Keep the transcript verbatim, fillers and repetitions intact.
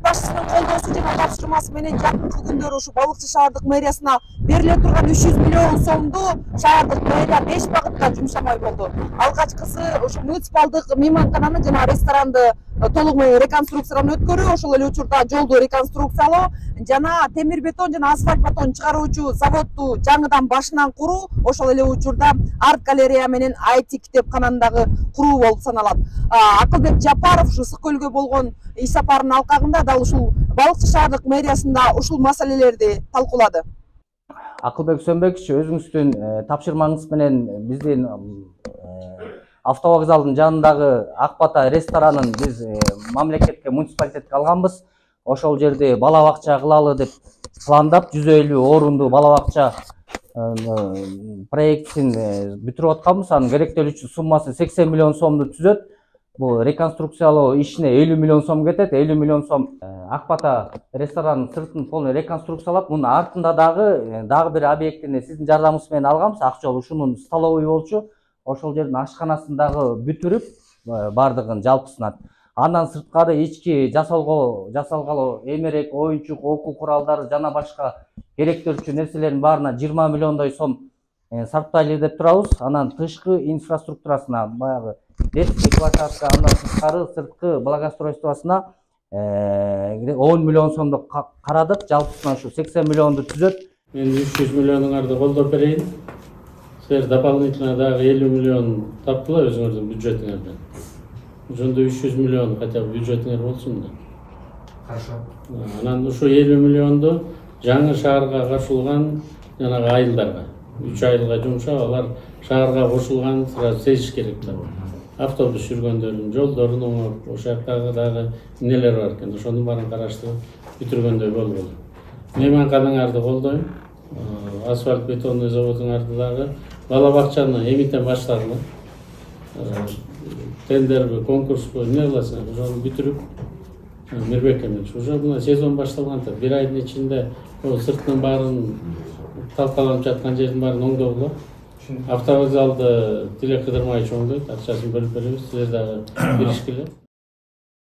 башчысынын колдоосу жана тапшырмасы менен жакынкы күндөр ушу Балыкчы шаардык мэриясына бериле турган үч жүз миллион сомду шаардык мэрия беш багытта жумшамай болду. Алгачкысы ушу муниципалдык мейманкананы жана ресторанды толук менен реконструкциядан өткөрүү, ошол эле учурда жолду реконструкциялоо жана темир бетон жана асфальт бетон чыгаруучу заводду жаңыдан башынан куруу, ошол эле учурда арт галерея менен ай ти китепкананы дагы куруу болуп саналат. Акылбек Жапаров ушу Ысык көлгө болгон иш сапарынын алкагында дал ушул Балыкчы шаардык мэриясында ушул маселелерди талкуулады. Акылбек Сөнбекович, өзүңүздүн тапшырмаңыз менен биздин автовокзалдын жанындагы Ак Бата ресторанын биз мамлекетке, муниципалитетке алганбыз. Ошол жерде бала бакча кылалы деп пландап, жүз элүү орунду бала бакча проектин бүтүрүп атканбыз. Анын керектелүүчү суммасы сексен миллион сомду түзөт. Бул реконструкциялоо ишине элүү миллион сом кетет. элүү миллион сом Ак Бата ресторанын сыртын полный реконструкциялап, мунун артында дагы дагы бир объектини сиздин жардамыңыз менен алганбыз. Акчол ушунун столовый болчу. Ошол жердин ашканасын дагы бүтүрүп, бардыгын жалпысынан. Андан сырткары ички жасалгоо, жасалгало эмерек, оюнчук, окуу куралдары жана башка керектелүүчү нерселердин баарына жыйырма миллиондой сом сарптайлы деп турабыз. Анан тышкы инфраструктурасына, баягы детский площадка, андан сырткары сырткы благоустройствосуна он миллион сомду карадык. Жалпысынан ушу сексен миллионду түзөт. Мен үч жүз миллионуңарды колдоп берейин. Силер дополнительно дагы элүү миллион таптыла өзүңөрдүн бюджетиңерден. Ошондо үч жүз миллион хотя бы бюджетиңер болсун да. Хорошо. Анан ушу элүү миллионду жаңы шаарга кошулган жанагы айылдарга, үч айылга жумшап, алар шаарга кошулган сразу сезиш керек да. Автобус жүргөндөрдүн жолдорун оңоп, ошол жактагы дагы эмнелер бар экен, ошонун баарын караштырып бүтүргөндөй болбоду. Мейманканаңарды колдойм. Асфальт бетонный заводуңарды дагы, бала бакчаны эмитен баштадым. Тендерби, конкурспу, эмне кыласың, ошону бүтүрүп, Мирбек эмес. Уже мына сезон башталган, бир айдын ичинде сыртынын баарын талкаланып жаткан жердин баарын оңдогула. Автовокзалды Тилек Кыдырмаевич оңдойт, акчасын бөлүп беребиз, силер дагы киришкиле.